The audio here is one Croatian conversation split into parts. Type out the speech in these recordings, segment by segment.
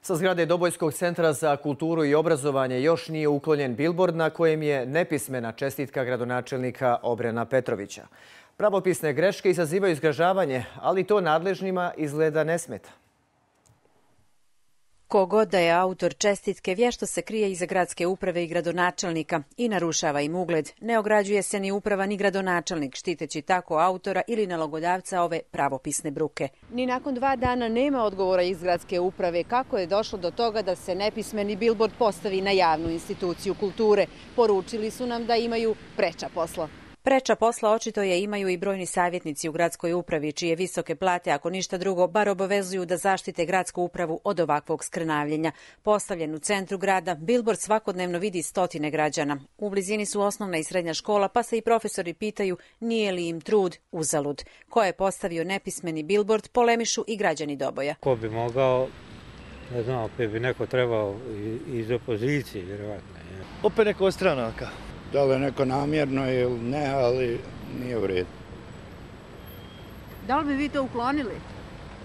Sa zgrade Dobojskog centra za kulturu i obrazovanje još nije uklonjen bilbord na kojem je nepismena čestitka gradonačelnika Obrena Petrovića. Pravopisne greške izazivaju zgražavanje, ali to nadležnima izgleda ne smeta. Ko god da je autor čestitke, vješto se krije iza gradske uprave i gradonačelnika i narušava im ugled. Ne ograđuje se ni uprava ni gradonačelnik, štiteći tako autora ili nalogodavca ove pravopisne bruke. Ni nakon 2 dana nema odgovora iz gradske uprave kako je došlo do toga da se nepismeni bilbord postavi na javnu instituciju kulture. Poručili su nam da imaju preča posla. Preča posla očito je imaju i brojni savjetnici u gradskoj upravi, čije visoke plate, ako ništa drugo, bar obavezuju da zaštite gradsku upravu od ovakvog skrnavljenja. Postavljen u centru grada, bilbord svakodnevno vidi stotine građana. U blizini su osnovna i srednja škola, pa se i profesori pitaju nije li im trud uzalud. Ko je postavio nepismeni bilbord, polemišu i građani Doboja. Ko bi mogao, ne znam, opet bi neko trebao iz opozicije, vjerovatno. Opet neko od stranaka. Da li je neko namjerno ili ne, ali nije u redu. Da li bi vi to uklonili?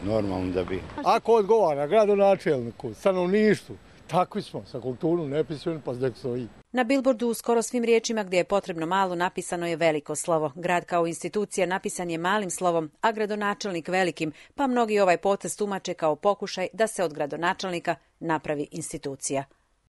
Normalno da bi. Ako odgovara gradonačelniku, stanovništvu, takvi smo, sa kulturom nepismeni, pa zdek stoji. Na bilbordu u skoro svim riječima gdje je potrebno malo napisano je veliko slovo. Grad kao institucija napisan je malim slovom, a gradonačelnik velikim, pa mnogi ovaj potez tumače kao pokušaj da se od gradonačelnika napravi institucija.